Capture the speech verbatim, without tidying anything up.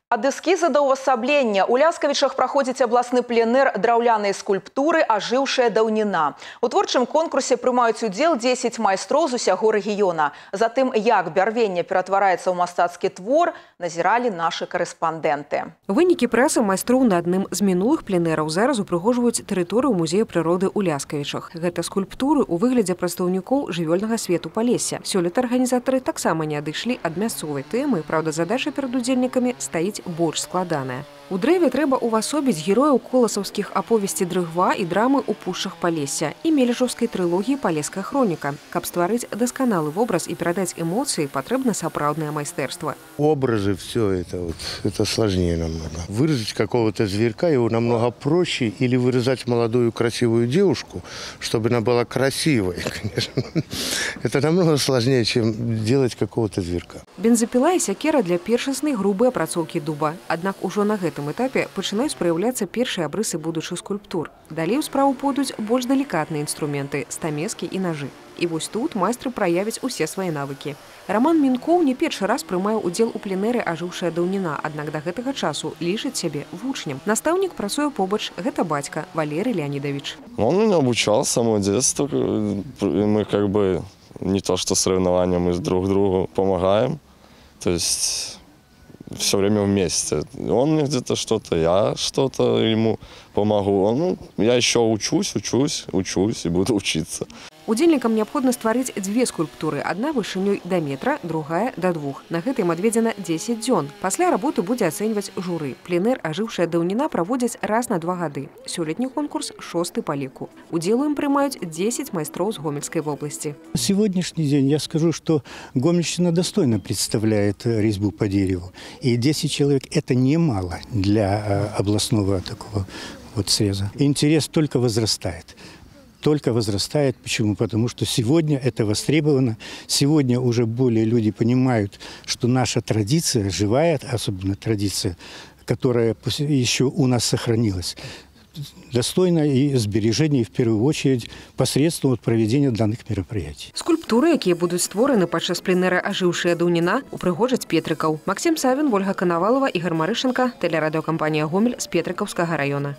Ад эскіза да ўвасаблення. У Ляскавічах праходзіць абласны пленэр драўлянай скульптуры «Ажыўшая даўніна». У творчым конкурсе прымаюць удзел дзесяць майстроў з усяго рэгіёна. Затым, як бярвенне ператвараецца ў мастацкі твор, назіралі нашы карэспандэнты. Вынікі працы майстроў на адным з мінулых пленэраў зараз упрыгожваюць тэрыторыю музея прыроды ў Ляскавічах. Гэта скульптуры ў выглядзе прадстаўнікоў жывёльнага свету Палесся. Сёлета арганізатары таксама не адышлі ад мясцовай тэмы, праўда, задача перад удзельнікамі стаіць больш складаная. У дрэве трэба увасобіць герояў коласаўскіх аповесці дрыгва і драмы ў пушчах Палесся і мележаўскай трылогіі «Палеская хроніка». Каб стварыць дасканалы вобраз і перадаць эмоцыі, патрэбна сапраўднае майстэрства. Образы, все это, вот, это сложнее намного. Вырезать какого-то зверька его намного проще, или вырезать молодую красивую девушку, чтобы она была красивой, конечно. Это намного сложнее, чем делать какого-то зверька. Бензапіла і сякера для першаснай грубай апрацоўкі дуба. Аднак ужо на гэтым этапе пачынаюць праяўляцца першыя абрысы будучых скульптур. Далей у справу пойдуць больш далікатныя інструменты – стамескі і нажы. І вось тут майстры праявяць усе свае навыкі. Раман Мінкоў не першы раз прымае удзел у пленэры «Ажыўшая даўніна», аднак да гэтага часу лічыць сябе вучнем. Настаўнік працуе побач, гэта бацька Валерий Леонидович. Он меня обучал с самого детства. Мы как бы не то что соревнования, мы друг другу помогаем. То есть все время вместе. Он мне где-то что-то, я что-то ему помогу. Он, ну, я еще учусь, учусь, учусь и буду учиться. Удзельнікам неабходна стварыць дзве скульптуры. Адна вышынёй да метра, другая да двух. На гэта ім адведзена дзесяць дзён. Пасля работу будзе ацэньваць журы. Пленэр «Ажыўшая даўніна» праводзяць раз на два гады. Сёлетні конкурс шосты па ліку. Удзел у ім прымаюць дзесяць майстроў з Гомельскай вобласці. На сегодняшний день я скажу, что Гомельщина достойно представляет резьбу по дереву. И десять человек – это немало для областного такого вот среза. Интерес только возрастает. Только возрастает. Почему? Потому что сегодня это востребовано. Сегодня уже более люди понимают, что наша традиция, живая, особенно традиция, которая еще у нас сохранилась, достойна и сбережения, в первую очередь, посредством вот проведения данных мероприятий. Скульптуры, якія будуць створаны падчас пленэра «Ажыўшая даўніна», упрыгожаць Петрыкаў. Максим Савін, Ольга Коновалова, Игорь Марышенко, телерадиокомпания «Гомель» з Петрыкаўскага района.